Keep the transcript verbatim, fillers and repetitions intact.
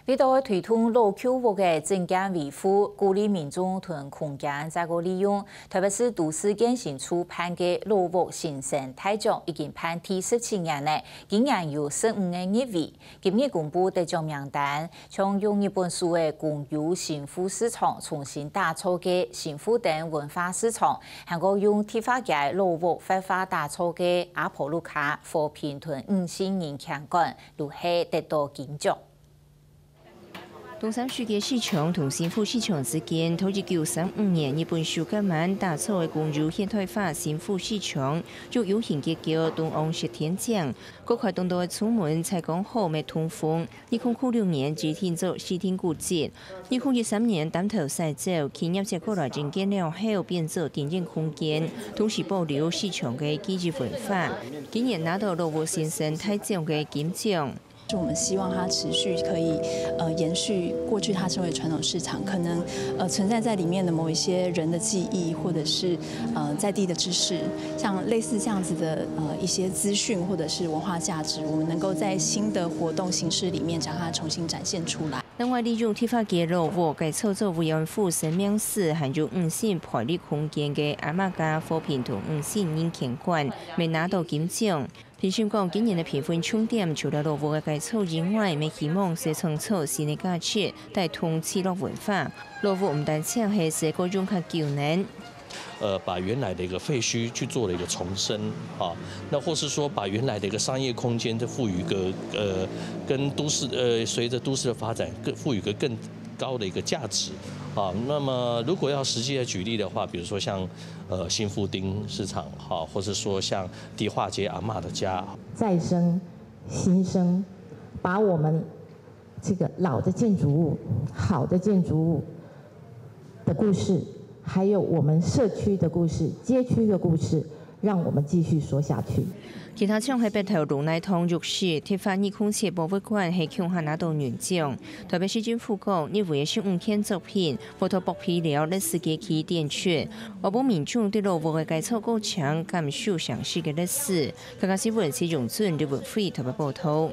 為著推動老舊屋个整建維護，鼓勵民眾同空間再過利用，台北市都市建新處辦个老屋新生大獎已經辦第十七年了，今年有十五个入圍。今日公布得獎名單，像用日本式个公有新富市場重新打造个新富等文化市場，還過用迪化街老屋活化打造个阿婆路卡和平同五四人行館，都係得到金獎。 東山區个市場同新富市場之間，在一九三五年日本手工業打造个公有現代化新富市場，就有形結構東歐式天井，各塊當多个窗門採光好，乜通風。二零零六年指定做市定古蹟，二零一三年擔頭徙走，企業接過來整建了後，變做展演空間，同時保留市場个記憶文化。今年拿到老屋新生大獎个金獎。 我們希望它持續可以，呃，延續過去它身為傳統市場，可能，呃，存在在裡面的某一些人的記憶，或者是，呃，在地的知識，像類似這樣子的，呃，一些資訊或者是文化價值，我們能夠在新的活動形式裡面將它重新展現出來。另外，利用迪化街老屋改造做慰安婦生命史，還有五四陪伴空間个阿媽家和平同五四人行館，乜拿到金獎。 評審講，今年个評分重點除了老屋个改造以外，乜希望係創造新个價值，帶動聚落文化。老屋毋單淨係使過用較久呢。呃，把原來的一個廢墟去做了一個重生，啊，那或是說把原來的一個商業空間再賦予一個呃，跟都市呃，隨著都市的發展，更賦予一個更高的一個價值，啊，那麼如果要實際來舉例的話，比如說像呃新富町市場，哈，或是說像迪化街阿嬷的家，再生、新生，把我們这个老的建筑物、好的建筑物的故事，还有我们社区的故事、街区的故事，让我们继续说下去。其他獎係北投鹿奶糖浴室、迪化二空七博物館係共下拿到銀獎。台北市政府講，入圍个十五件作品，會在薄皮寮歷史街區展出，確保民眾對老屋个改造過程感受城市个歷史。客家新聞謝永俊、李文輝台北報導。